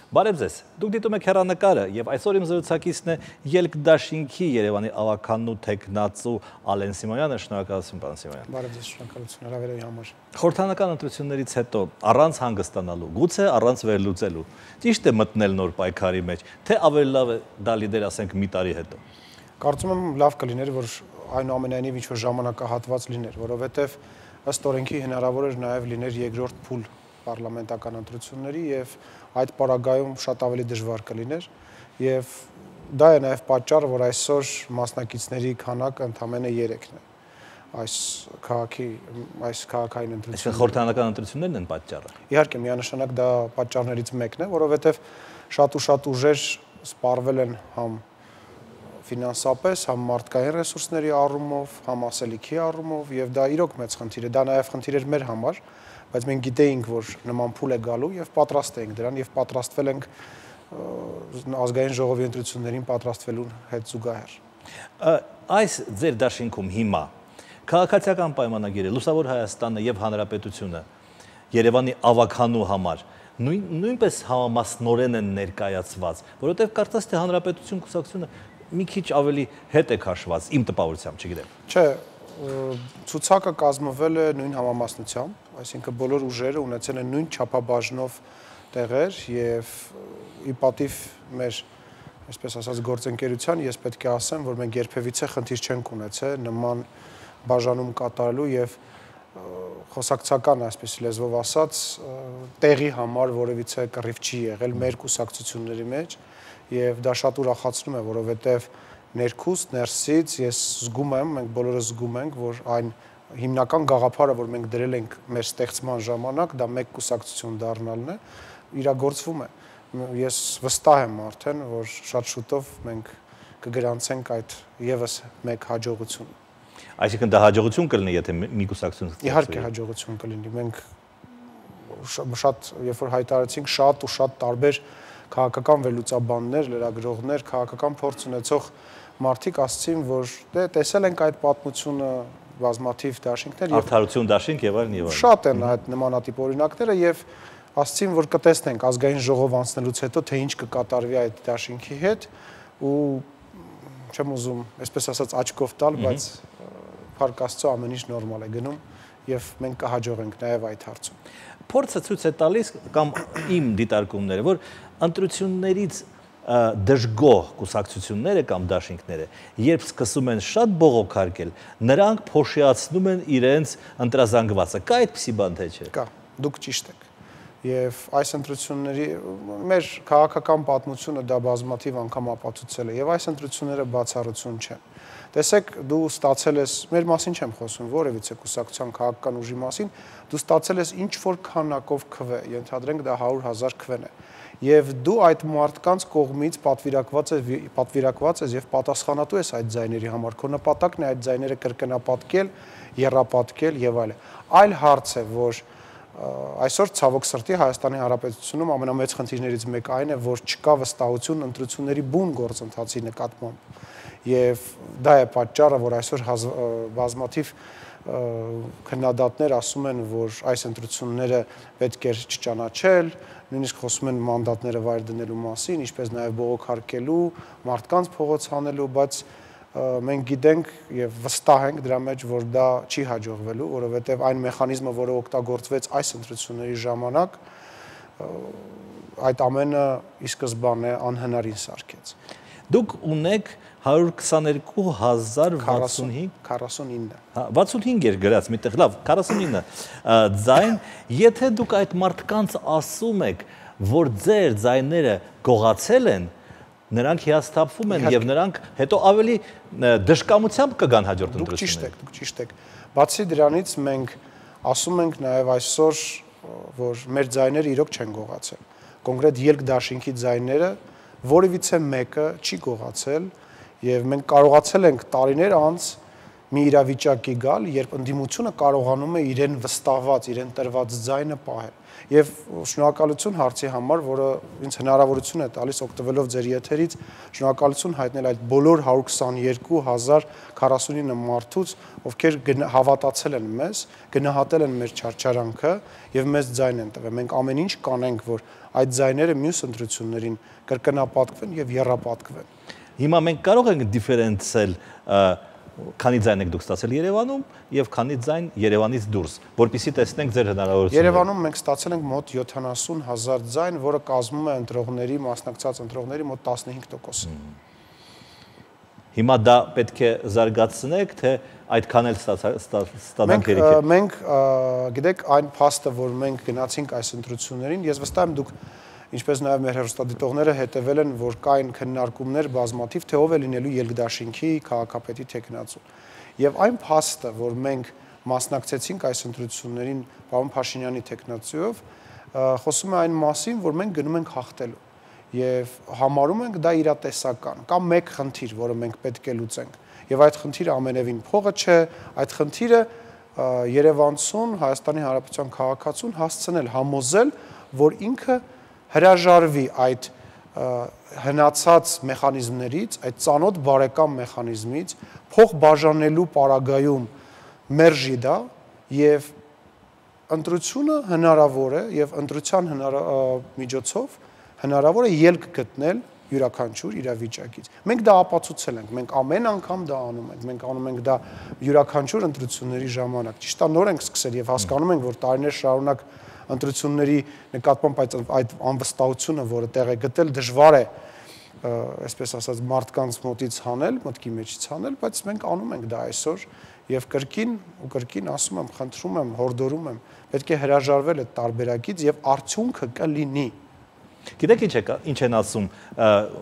Բարև ձեզ, դուք դիտում եք հեռանկարը և այսօր իմ զրուցակիցն է Ելք դաշինքի Երևանի ավականու թեկնածու Ալեն Սիմոնյանը, շնորհակալություն պարոն Սիմոնյան։ Բարև ձեզ, շնորհակալություն հրավերի համար։ Խորհրդարանական ընտրություններից հետո առանց հանգստանալու, գուցե առանց վերլուծելու, ճիշտ է մտնել նոր պայքարի մեջ, թե ավելի լավ է դա լիդեր, ասենք, մի տարի հետո։ Կարծում եմ լավ կլիներ, որ այնուամենայնիվ ինչ-որ ժամանակահատված լիներ, որովհետև ըստ օրենքի հնարավոր էր նաև լիներ երկրորդ փուլ պարլամենտական ընտրությունների եւ այդ պարագայում շատ ավելի դժվար կլիներ եւ դա է նաև պատճառը, որ այսօր մասնակիցների քանակը ընդամենը 3-ն է այս քաղաքային ընտրությունների։ Այսինքն խորհրդարանական ընտրություններն են պատճառը։ Իհարկե, միանշանակ դա պատճառներից մեկն է, որովհետև շատ ուժեր սպառվել են համ ֆինանսապես, համ մարդկային ռեսուրսների առումով, համ ասելիքի առումով եւ դա իրոք մեծ խնդիր է, դա նաև խնդիր էր մեր համար, բայց մենք գիտեինք, որ նման փուլ է գալու եւ պատրաստ էինք դրան եւ պատրաստվել ենք ազգային ժողովի ընտրություններին պատրաստվելու հետ զուգահեռ։ Այս ձեր դաշինքում հիմա քաղաքացիական պայմանագիրը, Լուսավոր Հայաստանը եւ Հանրապետությունը Երևանի ավականու համար նույնպես համամասնորեն են ներկայացված, որովհետեւ կարծես թե Հանրապետություն կուսակցությունը մի քիչ ավելի հետ է քաշված, իմ տպավորությամբ, չգիտեմ։ Չէ, ցուցակը կազմվել է նույն համամասնությամբ, այսինքն բոլոր ուժերը ունեցել են նույն չափաբաժնով տեղեր եւ ի պատիվ մեր, այսպես ասած, գործընկերության, ես պետք է ասեմ, որ մենք երբևիցե խնդիր չենք ունեցել նման բաժանում կատարելու եւ խոսակցական, այսպես լեզվով ասած, տեղի համար որևիցե կռիվ չի եղել մեր կուսակցությունների մեջ եւ դա շատ ուրախացնում է, որովհետեւ ներքուստ, ներսից ես զգում եմ, մենք բոլորը զգում ենք, որ այն հիմնական գաղափարը, որ մենք դրել ենք մեր ստեղծման ժամանակ, դա մեկ կուսակցություն դառնալն է, իրագործվում է։ Ես վստահ եմ արդեն, որ շատ շուտով մենք կգրանցենք այդ եւս մեկ հաջողությունը։ Այսինքն դա հաջողություն կլինի, եթե մի կուսակցություն ստեղծվի։ Իհարկե հաջողություն կլինի։ Մենք շատ, երբ որ հայտարարեցինք, շատ ու շատ տարբեր քաղաքական վերլուծաբաններ, լրագրողներ, քաղաքական փորձ ունեցող մարդիկ ասացին, որ դե տեսել ենք այդ պատմությունը բազմաթիվ դաշինքներ եւ արդարություն դաշինք եւ այլն եւ այլն։ Շատ են այդ նմանատիպ օրինակները եւ ասացին, որ կտեսնենք ազգային ժողով անցնելուց հետո թե ինչ կկատարվի այդ դաշինքի հետ ու չեմ ուզում, այսպես ասած, աչքով տալ, բայց փառք Աստծո ամեն ինչ նորմալ է գնում եւ մենք կհաջողենք նաեւ այդ հարցում։ Փորձը ցույց է տալիս կամ իմ դիտարկումները, որ ընտրություններից դժգոհ կուսակցությունները կամ դաշինքները, երբ սկսում են շատ բողոքարկել, նրանք փոշիացնում են իրենց ընտրազանգվածը։ Կա այդպիսի բան թե չէ։ Կա, դուք ճիշտ եք։ Եվ այս ընտրությունների մեր քաղաքական պատմությունը դա բազմաթիվ անգամ ապացուցել է եւ այս ընտրությունները բացառություն չեն։ Տեսեք, դու ստացել ես, մեր մասին չեմ խոսում, որևիցե կուսակցության քաղաքական ուժի մասին, դու ստացել ես ինչ որ քանակով քվե, ենթադրենք դա 100,000 քվեն է։ Եվ դու այդ մարդկանց կողմից պատվիրակված ես եւ պատասխանատու ես այդ ձայների համար։ Քո նպատակն է այդ ձայները կրկնապատկել, եռապատկել եւ այլն։ Այլ հարց է, որ այսօր ցավոք սրտի Հայաստանի Հանրապետությունում ամենամեծ խնդիրներից մեկը այն է, որ չկա վստահություն ընտրությունների բուն գործընթացի նկատմամբ։ Եվ դա է պատճառը, որ այսօր բազմաթիվ քննադատներ ասում են, որ այս ընտրությունները պետք է չճանաչել, նույնիսկ խոսում են մանդատները վայր դնելու մասին, ինչպես նաև բողոքարկելու, մարդկանց փողոց հանելու, բայց մենք գիտենք եւ վստահ ենք դրա մեջ, որ դա չի հաջողվելու, որովհետեւ այն մեխանիզմը, որը օգտագործվեց այս ընտրությունների ժամանակ, այդ ամենը ի սկզբանե անհնարին սարքեց։ Դուք ունեք 122,065 65 էր գրած միտեղ, լավ, 49 ձայն, եթե դուք այդ մարդկանց ասում եք, որ ձեր ձայները գողացել են, նրանք հիասթափվում են եւ նրանք հետո ավելի դժկամությամբ կգան հաջորդ ընտրություններին։ Դուք ճիշտ եք։ Բացի դրանից մենք ասում ենք նաեւ այսօր, որ մեր ձայները իրոք չեն գողացել։ Կոնկրետ ելք դաշինքի ձայները որևիցե մեկը չի գողացել եւ մենք կարողացել ենք տարիներ անց մի իրավիճակի գալ, երբ ընդդիմությունը կարողանում է իրեն վստահված, իրեն տրված ձայնը պահել։ Եվ շնորհակալություն հարցի համար, որը ինձ հնարավորություն է տալիս օգտվելով ձեր եթերից, շնորհակալություն հայտնել այդ բոլոր 122,049 մարդուց, ովքեր հավատացել են մեզ, գնահատել են մեր չարչարանքը եւ մեզ ձայն են տվել։ Մենք ամեն ինչ կանենք, որ այդ ձայները մյուս ընտրություններին կրկնապատկվեն եւ եռապատկվեն։ Հիմա մենք կարող ենք դիֆերենցիալ քանի ձայն եք դուք ստացել Երևանում եւ քանի ձայն Երևանից դուրս, որպեսզի տեսնենք ձեր հնարավորությունները։ Երևանում մենք ստացել ենք մոտ 70,000 ձայն, որը կազմում է ընտրողների, մասնակցած ընտրողների մոտ 15%-ը։ Հիմա դա պետք է զարգացնեք, թե այդքան էլ ստանանք երեքեր։ Մենք գիտեք այն փաստը, որ մենք գնացինք այս ընտրություններին, ես վստահ եմ դուք ինչպես նաև մեր հեռուստադիտողները հետևել են, որ կային քննարկումներ բազմաթիվ, թե ով է լինելու Ելգդաշինքի քաղաքապետի թեկնածուն։ Եվ այն փաստը, որ մենք մասնակցեցինք այս ընտրություններին պարոն Փաշինյանի թեկնածուով, խոսում է այն մասին, որ մենք գնում ենք հաղթելու եւ համարում ենք դա իրատեսական։ Կա մեկ խնդիր, որը մենք պետք է լուծենք։ Եվ այդ խնդիրը ամենևին փողը չէ, այդ խնդիրը Երևանցուն, Հայաստանի Հանրապետության քաղաքացուն հասցնել համոզել, որ ինքը հրաժարվի այդ հնացած մեխանիզմներից, այդ ծանոթ բարեկամ մեխանիզմից, փող բաժանելու պարագայում մերժի դա եւ ընտրությունը հնարավոր է եւ ընտրության միջոցով հնարավոր է ելք գտնել յուրաքանչյուր իրավիճակից։ Մենք դա ապացուցել ենք, մենք ամեն անգամ դա անում ենք, մենք անում ենք դա յուրաքանչյուր ընտրությունների ժամանակ։ Ճիշտ է, նոր ենք սկսել եւ հասկանում ենք, որ տարիներ շարունակ ընտրությունների նկատմամբ այդ անվստահությունը, որը տեղ է գտել, դժվար է, այսպես ասած, մարդկանց մոտից հանել, մտքի մեջից հանել, բայց մենք անում ենք դա այսօր եւ կրկին ու կրկին ասում եմ, խնդրում եմ, հորդորում եմ, պետք է հրաժարվել այդ տարբերակից եւ արդյունքը կլինի։ Գիտեք ինչ են ասում,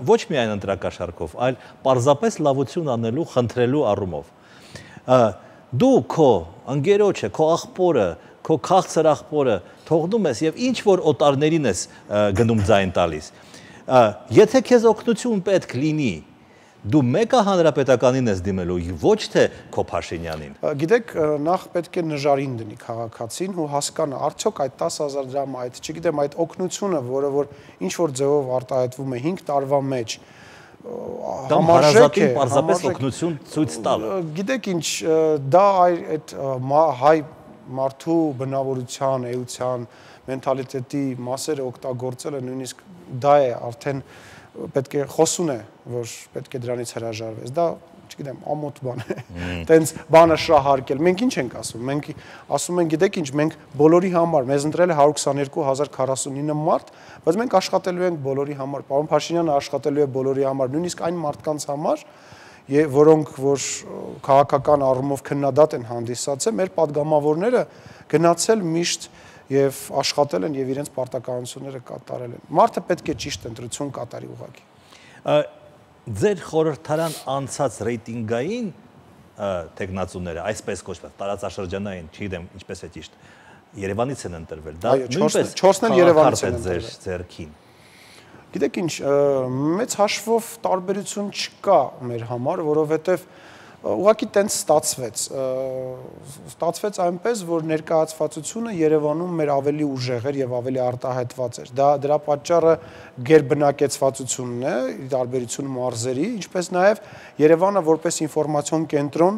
ոչ միայն ընտրակաշառքով, այլ պարզապես լավություն անելու, խնդրելու առումով։ Դու քո ընկերոջը, քո աղբորը, քո քաղցր աղբորը թողնում ես եւ ինչ որ օտարներին ես գնում ձայն տալիս։ Եթե քեզ օգնություն պետք լինի, դու մեկը հանրապետականին ես դիմելու, ոչ թե քո Փաշինյանին։ Գիտեք, նախ պետք է նժարին դնի քաղաքացին ու հասկանա, արդյոք այդ 10,000 դրամ, այդ, չգիտեմ, այդ օգնությունը, որը որ ինչ որ ձևով արտահայտվում է 5 տարվա մեջ, համարժեք է, պարզապես օգնություն ցույց տալը։ Գիտեք ինչ, դա այդ հայ մարդու բնավորության, էության, մենթալիտետի մասերը օգտագործելը նույնիսկ դա է արդեն պետք է խոսուն է, որ պետք է դրանից հրաժարվես։ Դա, չգիտեմ, ամոթ բան է։ Տենց բանը շահարկել։ Մենք ինչ ենք ասում։ Մենք ասում ենք, գիտեք ինչ, մենք բոլորի համար, մեզ ընտրել է 122,049 մարդ, բայց մենք աշխատելու ենք բոլորի համար։ Պարոն Փաշինյանը աշխատելու է բոլորի համար, նույնիսկ այն մարդկանց համար, որոնք որ քաղաքական առումով քննադատ են հանդիսացել, մեր падգամավորները գնացել միշտ եւ աշխատել են եւ իրենց պարտականությունները կատարել են։ Մարդը պետք է ճիշտ ընտրություն կատարի ուղղակի։ Ձեր խորհրդարան անցած ռեյտինգային տեխնացուները, այսպես կոչված, տարածաշրջանային, չգիտեմ ինչպես է ճիշտ, Երևանից են ընտրվել։ Դա նույնպես 4-ն էլ Երևանից են ձեր ձեռքին։ Գիտեք ինչ, մեծ հաշվով տարբերություն չկա մեր համար, որովհետեւ ուղղակի տենց ստացվեց այնպես, որ ներկայացվածությունը Երևանում մեր ավելի ուժեղ էր եւ ավելի արտահայտված էր։ Դրա պատճառը գերբնակեցվածությունն է, ի տարբերություն մարզերի, ինչպես նաեւ Երևանը որպես ինֆորմացիոն կենտրոն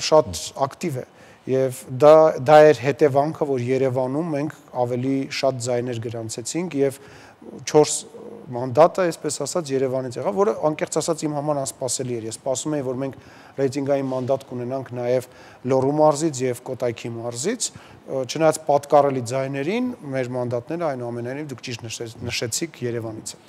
շատ ակտիվ է եւ դա էր հետևանքը, որ Երևանում մենք ավելի շատ ձայներ գրանցեցինք եւ 4 մանդատը, այսպես ասած, Երևանից եղավ, որը անկեղծ ասած իմ համար անսպասելի էր։ Ես սպասում էի, որ մենք ռեյտինգային մանդատ կունենանք նաև Լոռու մարզից եւ Կոտայքի մարզից, չնայած պատկառելի ձայներին, մեր մանդատները այնուամենայնիվ դուք ճիշտ նշեցիք Երևանից է։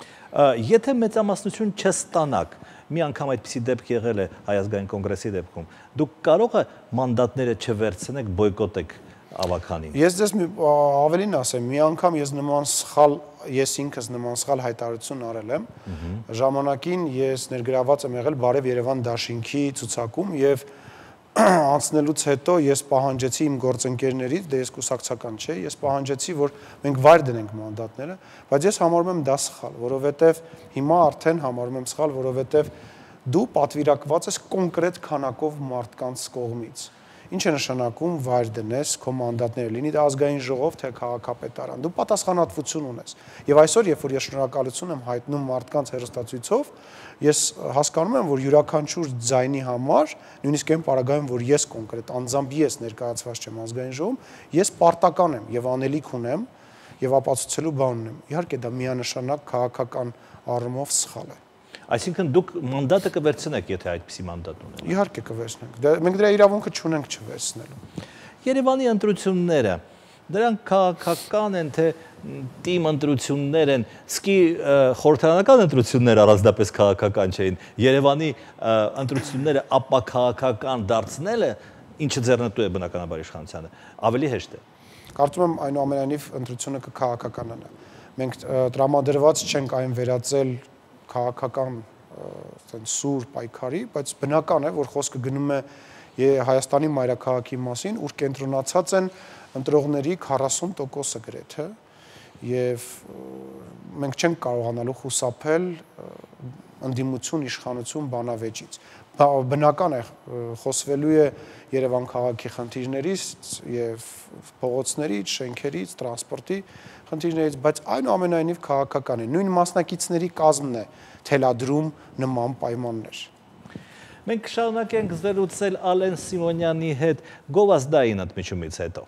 Եթե մեծամասնություն չստանաք, մի անգամ այդպիսի դեպք եղել է Հայ ազգային կոնգրեսի դեպքում, դուք կարող եք մանդատները չվերցնեք, բոյկոտեք ավականին։ Ես ձեզ ավելին ասեմ, մի անգամ ես ինքս նման սխալ հայտարարություն արել եմ։ Ժամանակին ես ներգրաված եմ եղել Բարև Երևան դաշինքի ցուցակում եւ անցնելուց հետո ես պահանջեցի իմ գործընկերներից, դե ես կուսակցական չէ, ես պահանջեցի, որ մենք վայր դնենք մանդատները, բայց ես համարում եմ դա սխալ, որովհետեւ հիմա արդեն համարում եմ սխալ, որովհետեւ դու պատվիրակված ես կոնկրետ քանակով մարդկանց կողմից։ Ինչ է նշանակում վայր դնես քո մանդատները, լինի դա ազգային ժողով, թե քաղաքապետարան։ Դու պատասխանատվություն ունես։ Եվ այսօր, երբ որ ես շնորհակալություն եմ հայտնում մարդկանց հեռուստացույցով, ես հասկանում եմ, որ յուրաքանչյուր ձայնի համար, նույնիսկ այն պարագայում, որ ես կոնկրետ անձամբ ես ներկայացված չեմ ազգային ժողովում, ես պարտական եմ եւ անելիք ունեմ եւ ապացուցելու բան ունեմ։ Իհարկե դա միանշանակ քաղաքական առումով սխալ է։ Այսինքն դուք մանդատը կվերցնեք, եթե այդպիսի մանդատ ունենաք։ Իհարկե կվերցնենք։ Մենք դրա իրավունքը չունենք չվերցնելու։ Երևանի ընտրությունները, դրանք քաղաքական են, թե տիմ ընտրություններ են, սկի խորհրդարանական ընտրությունները առանձնապես քաղաքական չէին։ Երևանի ընտրությունները ապաքաղաքական դարձնելը, ինչը ձեռնտու է բնականաբար իշխանությանը, ավելի հեշտ է։ Կարծում եմ այնուամենայնիվ ընտրությունը կքաղաքականանա։ Մենք տրամադրված չենք այն վերածել քաղաքական սուր պայքարի, բայց բնական է, որ խոսքը գնում է Հայաստանի մայրաքաղաքի մասին, ուր կենտրոնացած են ընտրողների 40%-ը գրեթե, եւ մենք չենք կարողանալու խուսափել ընդդիմություն իշխանություն բանավեճից։ Բնական է, խոսվելու է Երևան քաղաքի խնդիրներից եւ փողոցներից, շենքերից, տրանսպորտի խնդիրներից, բայց այնուամենայնիվ քաղաքական է։ Նույն մասնակիցների կազմն է թելադրում նման պայմաններ։ Մենք շարունակենք զրուցել Ալեն Սիմոնյանի հետ գովազդային ընդմիջումից հետո։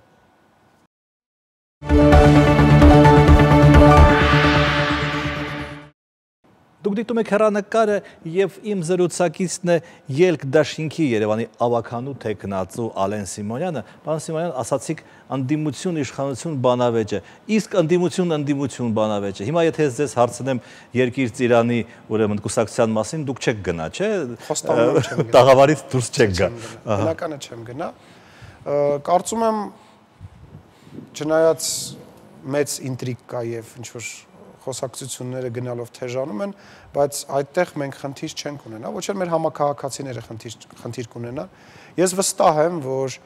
Դուք դիտում եք հեռանկարը եւ իմ զրուցակիցն է Ելք դաշինքի Երևանի ավականու թեկնածու Ալեն Սիմոնյանը։ Պարոն Սիմոնյան, ասացիք ընդդիմություն իշխանություն բանավեճը, իսկ ընդդիմություն բանավեճը։ Հիմա եթե ես ձեզ հարցնեմ Երկիր Ծիրանի ուրեմն կուսակցության մասին, դուք չեք գնա, չէ՞։ Տաղավարից դուրս չեք գա։ Բնականը չեմ գնա։ Կարծում եմ չնայած մեծ ինտրիգ կա եւ ինչ որ խոսակցությունները գնալով թեժանում են, բայց այդտեղ մենք խնդիր չենք ունենա, ոչ էլ մեր համակարգացիները խնդիր կունենան։ Ես վստահ եմ, որ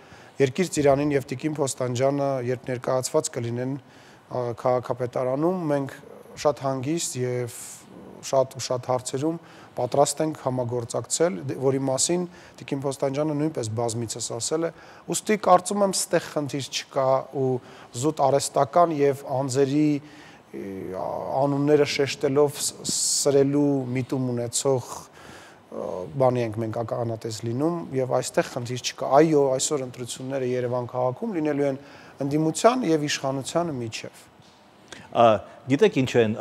Երկիր Ծիրանին եւ Տիկին Փոստանջյանը, երբ ներկայացված կլինեն քաղաքապետարանում, մենք շատ հանգիստ եւ շատ հարցերում պատրաստ ենք համագործակցել, որի մասին Տիկին Փոստանջյանը նույնպես բազմիցս ասել է, ուստի կարծում եմ ստեղ խնդիր չկա ու զուտ արհեստական եւ անձերի անունները շեշտելով սրելու միտում ունեցող բանի ենք մենք ականատես լինում եւ այստեղ խնդիր չկա։ Այո, այսօր ընտրությունները Երևան քաղաքում լինելու են ընդդիմության եւ իշխանության միջև։ Գիտեք ինչու են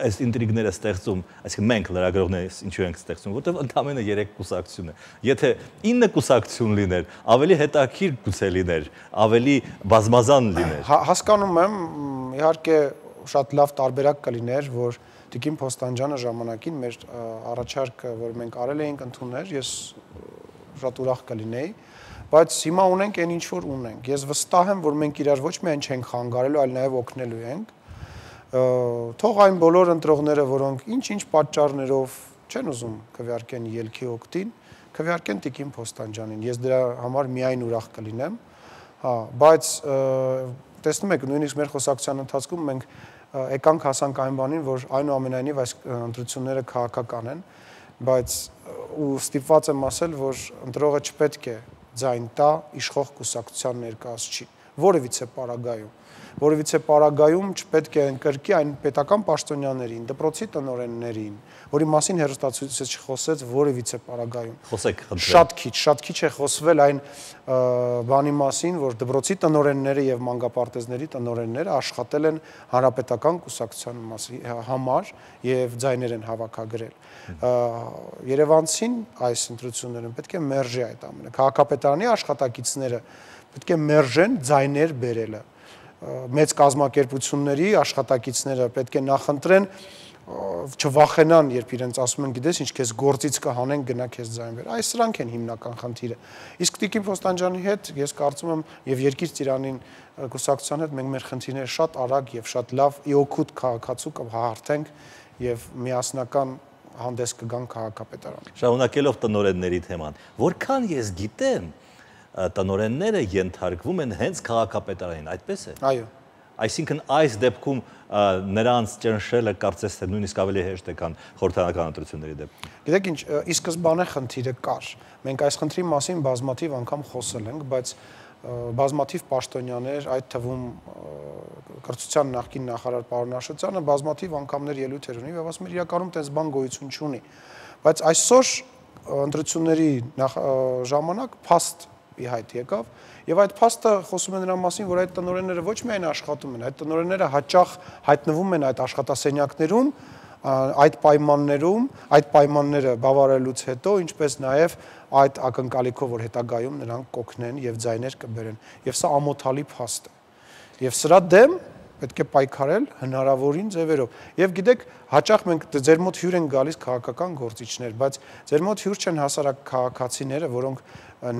այս ինտրիգները ստեղծում, այսինքն մենք լրագրողներս ինչու ենք ստեղծում, որտեղ ընդամենը 3 կուսակցություն է։ Եթե 9 կուսակցություն լիներ, ավելի հետաքրքիր գուցե լիներ, ավելի բազմազան լիներ։ Հասկանում եմ, իհարկե շատ լավ տարբերակ կլիներ, որ Տիկին Փոստանջյանը ժամանակին մեր առաջարկը, որ մենք արել էինք ընդուներ, ես շատ ուրախ կլինեի, բայց հիմա ունենք այն ինչ որ ունենք։ Ես վստահ եմ, որ մենք իրար ոչ միայն չենք խանգարելու, այլ նաև օգնելու ենք։ Թող այն բոլոր ընտրողները, որոնք ինչ-ինչ պատճառներով չեն ուզում քվեարկեն ելքի օգտին, քվեարկեն Տիկին Փոստանջյանին։ Ես դրա համար միայն ուրախ կլինեմ։ Հա, բայց տեսնում եք, նույնիսկ մեր խոսակցության ընթացքում մենք եկանք հասանք այն բանին, որ այնուամենայնիվ այս ընտրությունները քաղաքական են, բայց ու ստիպված եմ ասել, որ ընտրողը չպետք է ձայն տա իշխող կուսակցության ներկայացուցիչին, որևիցե պարագայում չպետք է ընկրկի այն պետական պաշտոնյաներին, դպրոցի տնօրեններին, որի մասին հեռուստացույցը չխոսեց որևիցե պարագայում։ Խոսեք, Շատ քիչ է խոսվել այն բանի մասին, որ դպրոցի տնօրենները եւ մանկապարտեզների տնօրենները աշխատել են հանրապետական կուսակցության համար եւ ձայներ են հավաքագրել։ Երևանցին այս ընտրություններում պետք է մերժի այդ ամենը։ Քաղաքապետարանի աշխատակիցները պետք է մերժեն ձայներ բերելը։ Մեծ կազմակերպությունների աշխատակիցները պետք է նախընտրեն չվախենան, երբ իրենց ասում են, գիտես ինչ, քեզ գործից կհանեն, գնա քեզ ձայն բեր։ Այս սրանք են հիմնական խնդիրը։ Իսկ Տիկին Փոստանջյանի հետ ես կարծում եմ եւ Երկիր Ծիրանին կուսակցության հետ մենք մեր խնդիրները շատ արագ եւ շատ լավ իօգուտ քաղաքացու կհաղթենք եւ միասնական հանդես կգան քաղաքապետարան։ Շարունակելով տնօրենների թեման, որքան ես գիտեմ, տնօրենները ենթարկվում են հենց քաղաքապետարանին, այդպես է։ Այո։ Այսինքն այս դեպքում նրանց ճնշելը կարծես թե նույնիսկ ավելի հեշտ է, քան խորհրդարանական ընտրությունների դեպքում։ Գիտեք ինչ, ի սկզբանե խնդիրը կար։ Մենք այս խնդրի մասին բազմաթիվ անգամ խոսել ենք, բայց բազմաթիվ պաշտոնյաներ, այդ թվում կրթության նախկին նախարար պարոն Աշոտյանը բազմաթիվ անգամներ ելույթեր ունի եւ ասում էր իրականում տես բան գոյություն չունի։ Բայց այսօր ընտրությունների ժամանակ փաստ ի հայտ եկավ եւ այդ փաստը խոսում է նրա մասին, որ այդ տնօրենները ոչ միայն աշխատում են, այդ տնօրենները հաճախ հայտնվում են այդ աշխատասենյակներում, այդ պայմաններում, այդ պայմանները բավարարելուց հետո, ինչպես նաեւ այդ ակնկալիքով, որ հետագայում նրանք կօգնեն եւ ձայներ կբերեն։ Եվ սա ամոթալի փաստ է։ Եվ սրա դեմ պետք է պայքարել հնարավորին ձևերով։ Եվ գիտեք, հաճախ մենք ձեր մոտ հյուր են գալիս քաղաքական գործիչներ, բայց ձեր մոտ հյուր չեն հասարակ քաղաքացիները, որոնք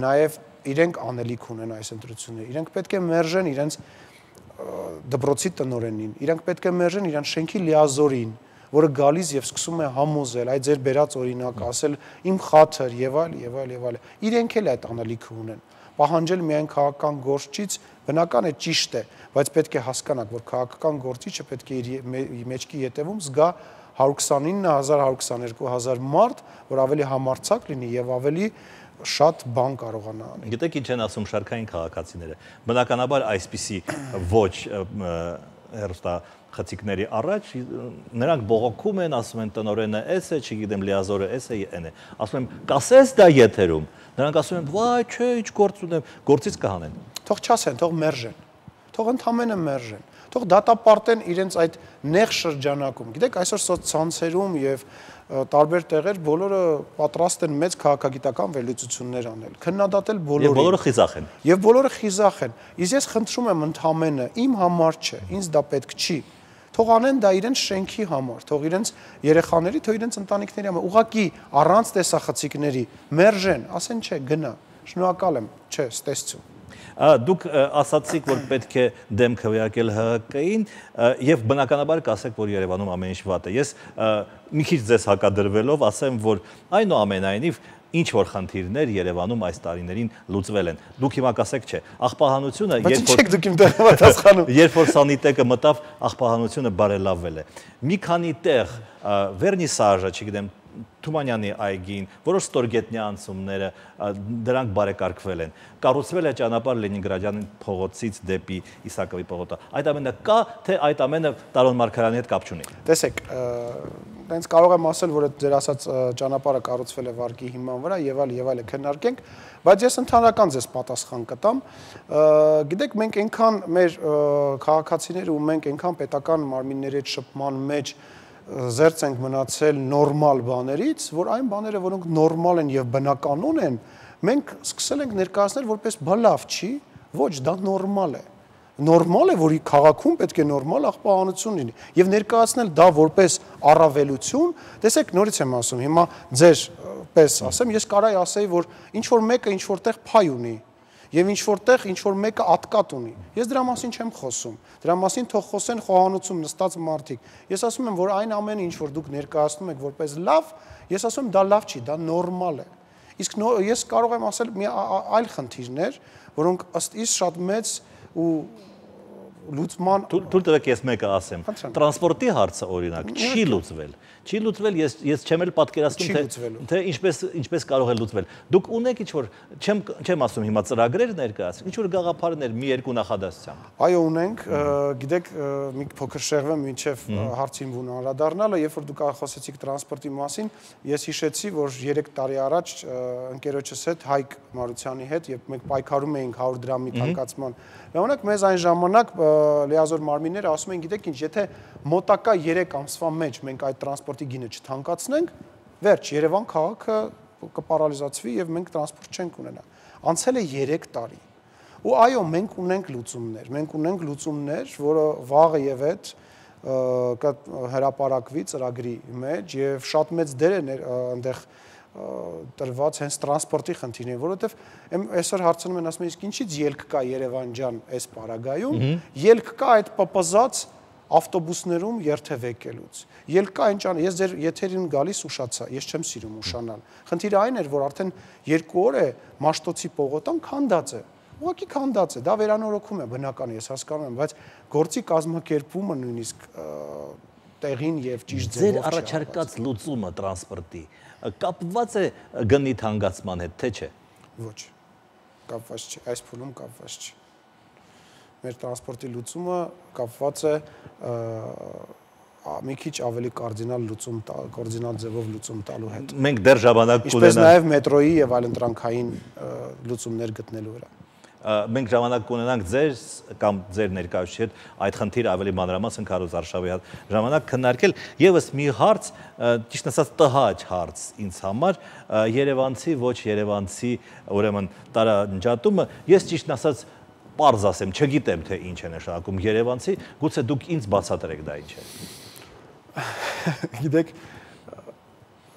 նաեւ իրենք անելիք ունեն այս ընտրությունները։ Իրենք պետք է մերժեն իրենց դպրոցի տնօրենին, իրենք պետք է մերժեն իրենց շենքի լիազորին, որը գալիս եւ սկսում է համոզել, այդ ձեր բերած օրինակ, ասել իմ խաթր եւ այլ եւ այլ եւ այլ։ Իրենք էլ այդ անելիքը ունեն։ Պահանջել միայն քաղաքական գործիչից բնական է, ճիշտ է, բայց պետք է հասկանաք, որ քաղաքական գործիչը պետք է իր մեջքի ետևում զգա 129,000-122,000 մարդ, որ ավելի համարձակ լինի եւ ավելի շատ բան կարողանա անել։ Գիտեք ինչ են ասում շարքային քաղաքացիները։ Բնականաբար այսպիսի ոչ հերոստախցիկների առաջ նրանք բողոքում են, ասում են տնօրենը էս է, չգիտեմ լիազորը էս է, այն է։ Ասում եմ, կասես դա եթերում։ Նրանք ասում են, վայ, չէ, ինչ գործ ունեմ, գործից կհանեն։ Թող չասեն, թող մերժեն։ Թող ընդհանրապես մերժեն։ Թող դատապարտեն իրենց այդ նեղ շրջանակում։ Գիտեք, այսօր սոցցանցերում եւ տարբեր տեղեր բոլորը պատրաստ են մեծ քաղաքագիտական վերլուծություններ անել, քննադատել բոլորին։ Եվ բոլորը խիզախ են։ Եւ բոլորը խիզախ են։ Իսկ ես խնդրում եմ ընդհանրապես իմ համար չէ, ինձ դա պետք չի։ Թող անեն դա իրենց շենքի համար, թող իրենց երեխաների, թող իրենց ընտանիքների համար։ Ուղղակի առանց տեսախցիկների մերժեն, ասեն չէ, գնա։ Շնորհակալ եմ, չէ, ստեսություն։ Դուք ասացիք, որ պետք է դեմ քվեարկել ՀՀԿ-ին եւ բնականաբար կասեք, որ Երևանում ամեն ինչ վատ է։ Ես մի քիչ ձեզ հակադրվելով ասեմ, որ այնուամենայնիվ ինչ որ խնդիրներ Երևանում այս տարիներին լուծվել են։ Դուք հիմա կասեք, չէ, աղբահանությունը երբ որ սանիտեկը մտավ, աղբահանությունը բարելավվել է։ Մի քանի տեղ վերնիսաժը, չգիտեմ, Թումանյանի այգին, որոշ ստորգետնյա անցումները դրանք բարեկարգվել են։ Կառուցվել է ճանապարհ Լենինգրադյան փողոցից դեպի Իսակովի փողոցը։ Այդ ամենը կա, թե այդ ամենը Տարոն Մարգարյանի հետ կապ չունի։ Տեսեք, տենց կարող եմ ասել, որ այդ ձեր ասած ճանապարհը կառուցվել է վարկի հիման վրա եւ այլ քննարկենք, բայց ես ընդհանրական ձեզ պատասխան կտամ։ Գիտեք, մենք այնքան մեր քաղաքացիները ու մենք այնքան պետական մարմինների հետ շփման մեջ զերծ ենք մնացել նորմալ բաներից, որ այն բաները, որոնք նորմալ են եւ բնականon են, մենք սկսել ենք ներկայացնել որպես բա լավ չի, ոչ, դա նորմալ է։ Նորմալ է, որ քաղաքում պետք է նորմալ աղբահանություն լինի եւ ներկայացնել դա որպես առավելություն։ Տեսեք, նորից եմ ասում, հիմա ձեր պես ասեմ, ես կարայի ասեի, որ ինչ որ մեկը ինչ որտեղ փայ ունի եւ ինչ որտեղ ինչ որ մեկը ատկատ ունի։ Ես դրա մասին չեմ խոսում։ Դրա մասին թող խոսեն խոհանոցում նստած մարդիկ։ Ես ասում եմ, որ այն ամենը, ինչ որ դուք ներկայացնում եք որպես լավ, ես ասում եմ, դա լավ չի, դա նորմալ է։ Իսկ ես կարող եմ ասել մի այլ խնդիրներ, որոնք ըստ իս շատ մեծ ու լուծման Թույլ տվեք ես մեկը ասեմ։ Տրանսպորտի հարցը օրինակ չի լուծվել։ Չի լուծվել, ես չեմ էլ պատկերացնում, թե ինչպես կարող է լուծվել։ Դուք ունեք ինչ-որ, չեմ ասում հիմա ծրագրեր ներկայացրեք, ինչ-որ գաղափարներ մի երկու նախադասությամբ։ Այո, ունենք, գիտեք, մի փոքր շեղվեմ մինչև հարցին բուն անդրադառնալը, երբ որ դուք խոսեցիք տրանսպորտի մասին, ես հիշեցի, որ 3 տարի առաջ ընկերոջս հետ Հայկ Մարությանի հետ, երբ մենք պայքարում էինք 100 դրամի թանկացման ժամանակ, մեզ այն ժամանակ լիազոր մարմինները ասում են, գիտեք ինչ, եթե մոտակա 3 ամսվա մեջ մենք այդ տրանսպորտի գինը չթանկացնենք, վերջ, Երևան քաղաքը կպարալիզացվի եւ մենք տրանսպորտ չենք ունենա։ Անցել է 3 տարի։ Ու այո, մենք ունենք լուծումներ, որը վաղը եւ հետ կհրապարակվի ծրագրի մեջ եւ շատ մեծ դեր է այնտեղ տրված հենց տրանսպորտի խնդիրներին, որովհետև այսօր հարցնում են, ասում են, իսկ ինչից ելք կա Երևան ջան այս պարագայում, ելք կա այդ պպզած ավտոբուսներում երթևեկելուց։ Ելք կա ինչ ան, ես ձեր եթերին գալիս ուշացա, ես չեմ սիրում ուշանալ։ Խնդիրը այն էր, որ արդեն 2 օր է Մաշտոցի պողոտան քանդած է։ ուղղակի քանդած է, դա վերանորոգում է բնական, ես հասկանում եմ, բայց գործի կազմակերպումը նույնիսկ տեղին եւ ճիշտ ձևով Ձեր առաջարկած լուծումը տրանսպորտի կապված է գնի թանկացման հետ, թե չէ։ Ոչ, կապված չի, այս փուլում կապված չի։ Մեր տրանսպորտի լուծումը կապված է մի քիչ ավելի կարդինալ ձևով լուծում տալու հետ։ Մենք դեռ ժամանակ կունենանք։ Ինչպես նաև մետրոյի եւ այլընտրանքային լուծումներ գտնելու վրա։ Մենք ժամանակ կունենանք ձեր կամ ձեր ներկայացուցիչի հետ այդ խնդիրը ավելի մանրամասն Քարոզ Արշավի հետ ժամանակ քննարկել։ Եվս մի հարց, ճիշտ ասած տհաճ հարց ինձ համար, Երևանցի ոչ երևանցի, ուրեմն տարանջատումը, ես ճիշտ ասած պարզ ասեմ, չգիտեմ թե ինչ է նշանակում երևանցի, գուցե դուք ինձ բացատրեք դա ինչ է։ Գիտեք,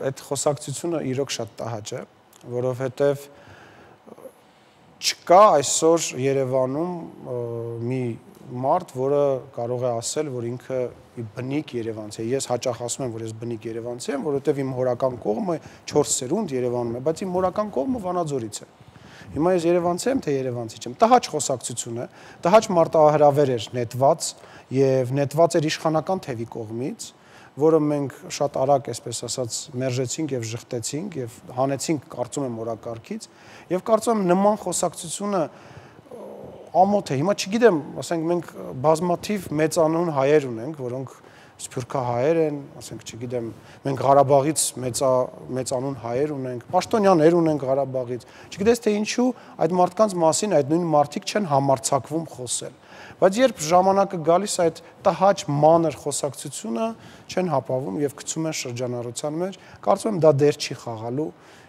այդ խոսակցությունը իրոք շատ տհաճ է, որովհետև չկա այսօր Երևանում մի մարդ, որը կարող է ասել, որ ինքը բնիկ երևանցի է։ Ես հաճախ ասում եմ, որ ես բնիկ երևանցի եմ, որովհետև իմ հորական կողմը 4 սերունդ Երևանում է, բայց իմ հորական կողմը Վանաձորից է։ Հիմա ես երևանցի եմ, թե երևանցի չեմ։ Տհաճ խոսակցություն է, տհաճ մարտահրավեր էր նետված եւ նետված էր իշխանական թևի կողմից, որը մենք շատ արագ, այսպես ասած, մերժեցինք եւ ժխտեցինք եւ հանեցինք, կարծում եմ, օրակարգից եւ կարծում եմ նման խոսակցությունը ամոթ է։ Հիմա չգիտեմ, ասենք մենք բազմաթիվ մեծանուն հայեր ունենք, որոնք սփյուռքահայեր են, ասենք, չգիտեմ, մենք Ղարաբաղից մեծանուն հայեր ունենք, պաշտոնյաներ ունենք Ղարաբաղից։ Չգիտես թե ինչու այդ մարդկանց մասին այդ նույն մարդիկ չեն համարձակվում խոսել։ Բայց երբ ժամանակը գալիս այդ տհաճ մանր խոսակցությունը չեն հապավում եւ գցում են շրջանառության մեջ, կարծում եմ դա դեր չի խաղալու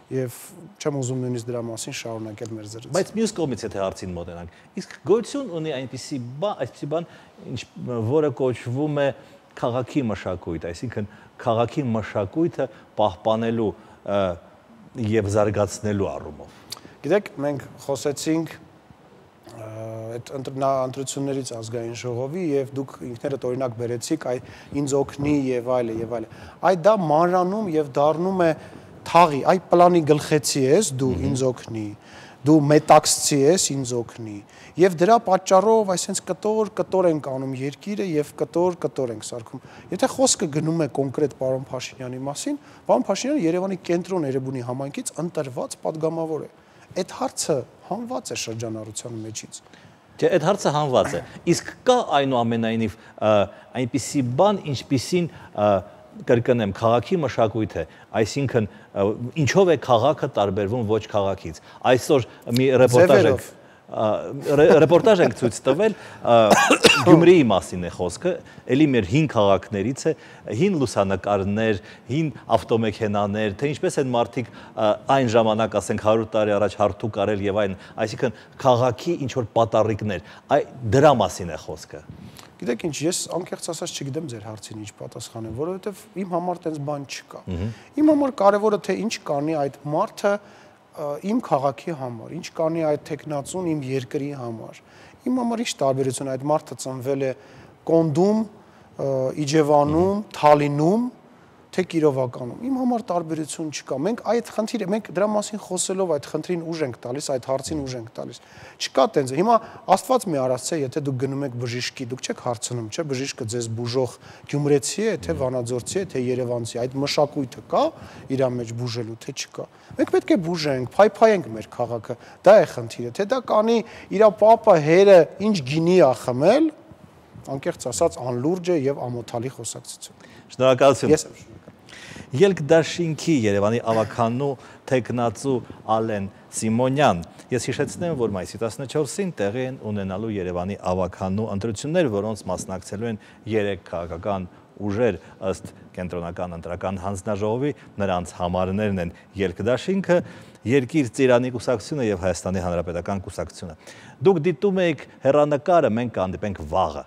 եւ չեմ ուզում նույնիսկ դրա մասին շարունակել մեր զրույցը։ Բայց մյուս կողմից եթե հարցին մոտենանք, իսկ գոյություն ունի այնպիսի բան, որը կոչվում է քաղաքի մշակույթ, այսինքն քաղաքի մշակույթը պահպանելու եւ զարգացնելու առումով։ Գիտեք, մենք խոսեցինք այդ ընտրություններից ազգային ժողովի եւ դուք ինքներդ օրինակ բերեցիք ինձ օգնի եւ այլը եւ այլը։ Այդ դա մանրանում եւ դառնում է թաղի, այ պլանի գլխեցի ես, դու ինձ օգնի, դու մետաքսցի ես, ինձ օգնի։ Եվ դրա պատճառով այսպես կտոր ենք անում երկիրը եւ կտոր ենք սարքում։ Եթե խոսքը գնում է կոնկրետ պարոն Փաշինյանի մասին, պարոն Փաշինյանը Երևանի կենտրոն Էրեբունի համայնքից ընտրված падգամավոր է։ Այդ հարցը հանված է շրջանառության մեջից։ Չէ, այդ հարցը հանված է։ Իսկ կա այնուամենայնիվ այնպիսի բան, ինչպիսին կրկնեմ, քաղաքի մշակույթ է, այսինքն ինչով է քաղաքը տարբերվում ոչ քաղաքից։ Այսօր մի ռեպորտաժ ենք ցույց տվել, Գյումրիի մասին է խոսքը, էլի մեր հին քաղաքներից է, հին լուսանկարներ, հին ավտոմեքենաներ, թե ինչպես են մարդիկ այն ժամանակ, ասենք 100 տարի առաջ հարթու կարել եւ այն, այսինքն քաղաքի ինչ որ պատառիկներ, դրա մասին է խոսքը։ Գիտեք ինչ, ես անկեղծ ասած չգիտեմ ձեր հարցին ինչ պատասխանեմ, որովհետև իմ համար տենց բան չկա։ Իմ համար կարևորը թե ինչ կանի այդ մարդը իմ քաղաքի համար, ինչ կանի այդ տեխնացուն իմ երկրի համար։ Իմ համար ինչ տարբերություն այդ մարդը ծնվել է Կոնդում, Իջևանում, Թալինում, թե Կիրովականում։ Իմ համար տարբերություն չկա։ Մենք այդ խնդիրը, մենք դրա մասին խոսելով այդ խնդրին ուժ ենք տալիս, այդ հարցին ուժ ենք տալիս։ Չկա տենց։ Հիմա Աստված մի արածցե, եթե դուք գնում եք բժիշկի, դուք չեք հարցնում, չէ՞, բժիշկը ձեզ բուժող գյումրեցի է, թե վանաձորցի է, թե երևանցի։ Այդ մշակույթը կա իր մեջ բուժելու, թե չկա։ Մենք պետք է բուժենք, փայփայենք մեր քաղաքը։ Դա է խնդիրը։ Թե դա կանի իր պապը հերը ինչ գինի է խմել, անկեղծ ասած անլուրջ է եւ ամոթալի խոսակցություն։ Շնորհակալություն։ Ես եմ Ելք դաշինքի Երևանի ավականու տեխնացու Ալեն Սիմոնյան։ Ես հիշեցնեմ, որ մայիսի 14-ին տեղի են ունենալու Երևանի ավականու ընտրություններ, որոնց մասնակցելու են 3 քաղաքական ուժեր ըստ կենտրոնական ընտրական հանձնաժողովի, նրանց համարներն են Ելք դաշինքը, Երկիր ծիրանի կուսակցությունը եւ Հայաստանի Հանրապետական կուսակցությունը։ Դուք դիտում եք հեռանկարը, մենք կհանդիպենք վաղը։